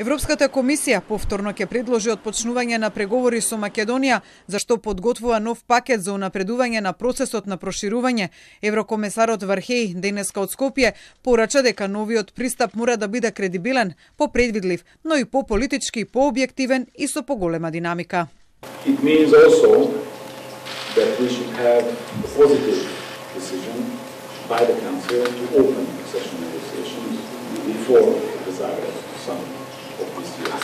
Европската комисија повторно ќе предложи отпочнување на преговори со Македонија, зашто подготвува нов пакет за унапредување на процесот на проширување. Еврокомесарот Вархеј денеска од Скопје порача дека новиот пристап мора да биде кредибилен, попредвидлив, но и пополитички, пообјективен и со поголема динамика. It means also that we should have a positive decision by the Council to open accession negotiations before the Zagreb summit of this year,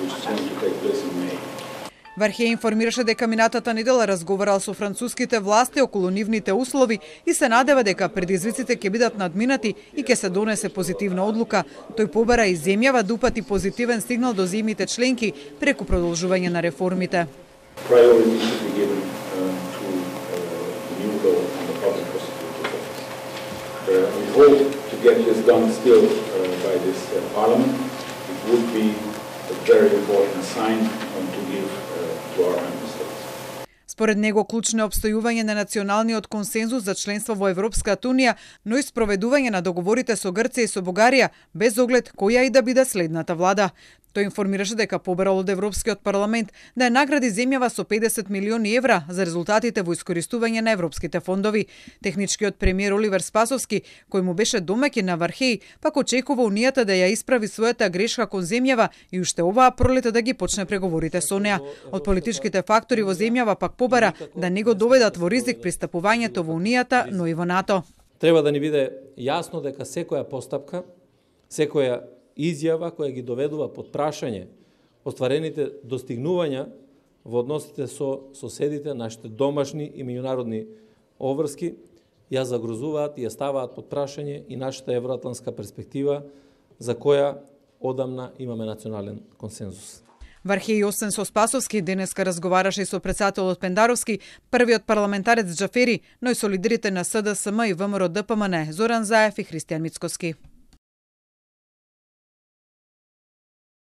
which is going to take place in May. Вархеј информираше дека минатата недела разговарал со француските власти околу нивните услови и се надева дека предизвиците ќе бидат надминати и ќе се донесе позитивна одлука. Тој побара и земјава да упати позитивен сигнал до земјите членки преку продолжување на реформите. Priority should be given to the new law on the public prosecutor's office. We hope to get this done still by this Parliament. It would be a very important sign to give to our member states. Според него клучно е обстојување на националниот консензус за членство во Европската унија, но и спроведување на договорите со Грција и со Бугарија, без оглед која и да биде следната влада. Тој информираше дека побарал од Европскиот парламент да ја награди земјава со 50 милиони евра за резултатите во искористување на европските фондови. Техничкиот премиер Оливер Спасовски, кој му беше домаќин на Вархеј, пак очекува Унијата да ја исправи својата грешка кон земјава и уште оваа пролета да ги почне преговорите со неа. Од политичките фактори во земјава пак побара да не го доведат во ризик пристапувањето во Унијата, но и во НАТО. Треба да ни биде јасно дека секоја постапка, секоја изјава која ги доведува под прашање остварените достигнувања во односите со соседите, нашите домашни и меѓународни обврски, ја загрозуваат и ја ставаат под прашање и нашата евроатлантска перспектива за која одамна имаме национален консензус. Вархеј освен со Спасовски денеска разговараше и со претседателот Пендаровски, првиот парламентарец Џафери, но и со лидерите на СДСМ и ВМРО ДПМН Зоран Заев и Христијан Мицкоски.